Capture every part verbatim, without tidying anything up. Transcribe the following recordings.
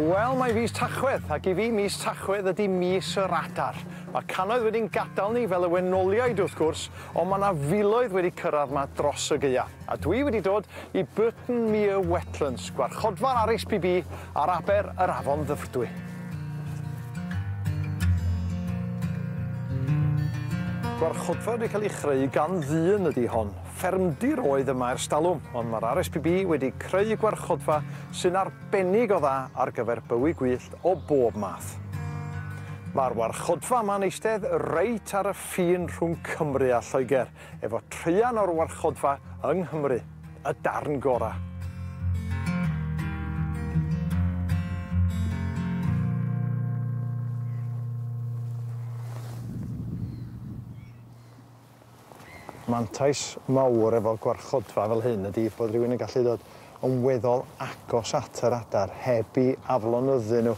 Wel, mae fis Tachwedd, ac i fi mis Tachwedd ydy mis yr adar. Mae cannoedd wedi'n gadael ni fel y wenoliaid wrth gwrs, ond mae yna filoedd wedi cyrraedd yma dros y gaea. A dwi wedi dod i Burton Mere Wetlands, gwarchodfa'r R S P B ar aber yr Afon Ddyfrdwy. Gwarchodfa wedi cael ei chreu gan ddyn ydy hon. Ffermdir oedd yma ers talwm, ond mae'r R S P B wedi creu gwarchodfa sy'n arbennig o dda ar gyfer bywyd gwyllt o bob math. Mae'r warchodfa yma'n eistedd reit ar y ffin rhwng Cymru a Lloegr, efo traean o'r warchodfa yng Nghymru, y darn gorau. Mantais mawr efo gwarchodfa fel hyn ydy bod rhywun yn gallu dod yn weddol agos at yr adar heb i aflonyddu nhw.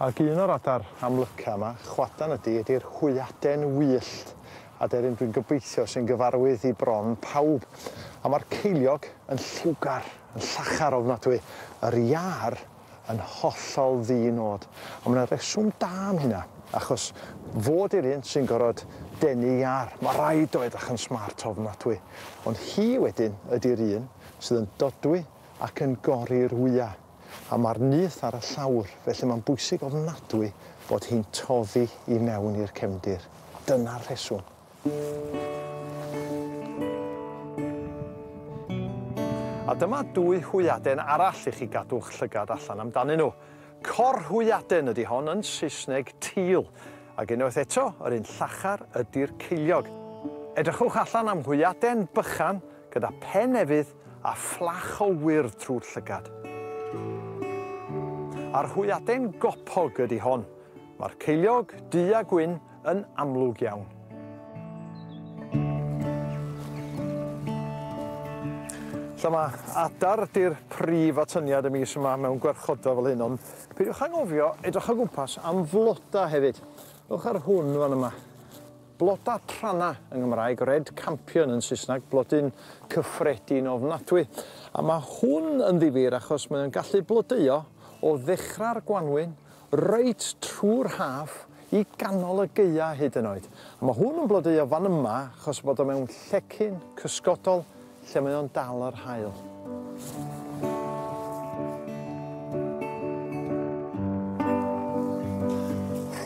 Ac un o'r adar amlyca yma, chwadan ydy, ydy'r hwyaden wyllt, aderyn dwi'n gobeithio sy'n gyfarwydd i bron pawb. A mae'r ceiliog yn lliwgar, yn llachar ofnadwy, yr iâr yn hollol ddi-nod. A mae yna reswm da am hynna, achos fod i'r un sy'n gorfod denu iâr. Mae rhaid o edrych yn smart ofnadwy. Ond hi wedyn ydy'r un sydd yn dodwy ac yn gori'r wya. A mae'r nyth ar y llawr, felly mae'n bwysig ofnadwy bod hi'n toddi i mewn i'r cefndir. Dyna'r rheswm. A dyma dwy hwyaden arall i chi gadw'ch llygad allan amdanyn nhw. Corhwyaden ydy hon yn Saesneg teal. Ac unwaith eto, yr un llachar ydy'r ceiliog. Edrychwch allan am hwyaden bychan gyda pen efydd a fflach o wyrdd trwy'r llygad. A'r hwyaden gopog ydy hon. Mae'r ceiliog du a gwyn yn amlwg iawn. Lle mae adar ydy'r prif atyniad y mis yma mewn gwarchodfa fel hyn, ond peidiwch anghofio edrych o gwmpas am floda hefyd. Ewch ar hwn fan yma. Bloda tranna yng Nghymraeg, red campion yn Saesneg, blodyn cyffredin ofnadwy. A mae hwn yn ddifyr achos mae'n gallu blodeuo o ddechrau'r gwanwyn reit trwy'r haf i ganol y gaea hyd yn oed. A mae hwn yn blodeuo fan yma achos bod o mewn llecyn cysgodol lle mae o'n dal yr haul.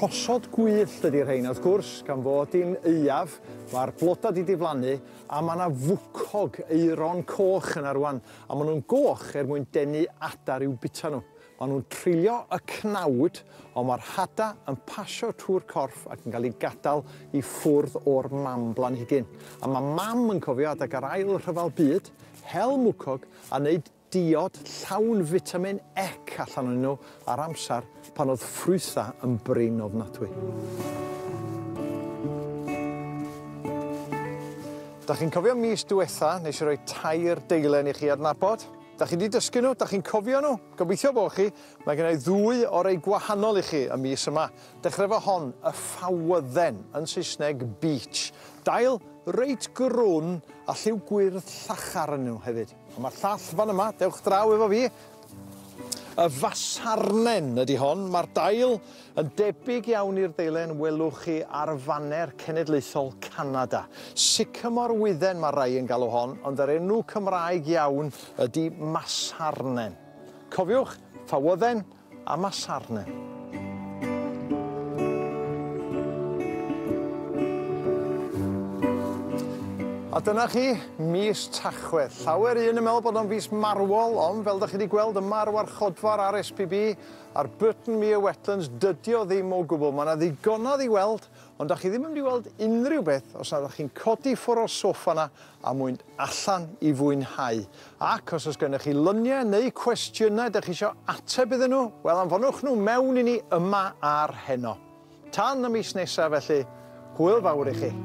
Rhosod gwyllt ydy'r rhein, wrth gwrs, gan fod hi'n aeaf, mae'r bloda 'di diflannu, a mae yna fwcog aeron coch yna rwan, a maen nhw'n goch er mwyn denu adar i'w bita nhw. Maen nhw'n treulio y cnawd, ond mae'r hada yn pasio trwy'r corff ac yn cael ei gadael i ffwrdd o'r mam blanhigyn. A mae mam yn cofio adeg yr ail rhyfel byd, hel mwcog a wneud diod llawn fitamin E allan o'n nhw ar amser pan oedd ffrwytha yn brin ofnadwy. Da chi'n cofio mis diwetha, nes i roi tair deilen i chi adnabod? Da chi wedi dysgu nhw? Da chi'n cofio nhw? Gobeithio bod chi. Mae gen i ddwy o rei gwahanol i chi y mis yma. Dechrau efo hon, y ffawydden, yn Saesneg beech. Dail reit grwn a lliw gwyrdd llachar yn nhw hefyd. A mae'r llall fan yma, dewch draw efo fi. Y fasarnen ydy hon. Mae'r dail yn debyg iawn i'r deilen welwch chi ar faner cenedlaethol Canada. Sycamore wydden mae rai yn galw hon, ond yr enw Cymraeg iawn ydy masarnen. Cofiwch, ffawydden a masarnen. A dyna chi, mis Tachwedd. Llawer un yn meddwl bod o'n fis marwol, ond fel dach chi wedi gweld yma ar warchodfa'r R S P B a'r Burton Mere Wetlands, dydy o ddim o gwbl. Mae yna ddigonodd i weld, ond dach chi ddim yn mynd i weld unrhyw beth os nad ydych chi'n codi ffwrdd o'r soffa yna a mwyn allan i fwynhau. Ac os oes gennych chi luniau neu cwestiynau dach chi isio ateb iddyn nhw, wel anfonwch nhw mewn i ni yma ar heno. Tan y mis nesaf felly, hwyl fawr i chi.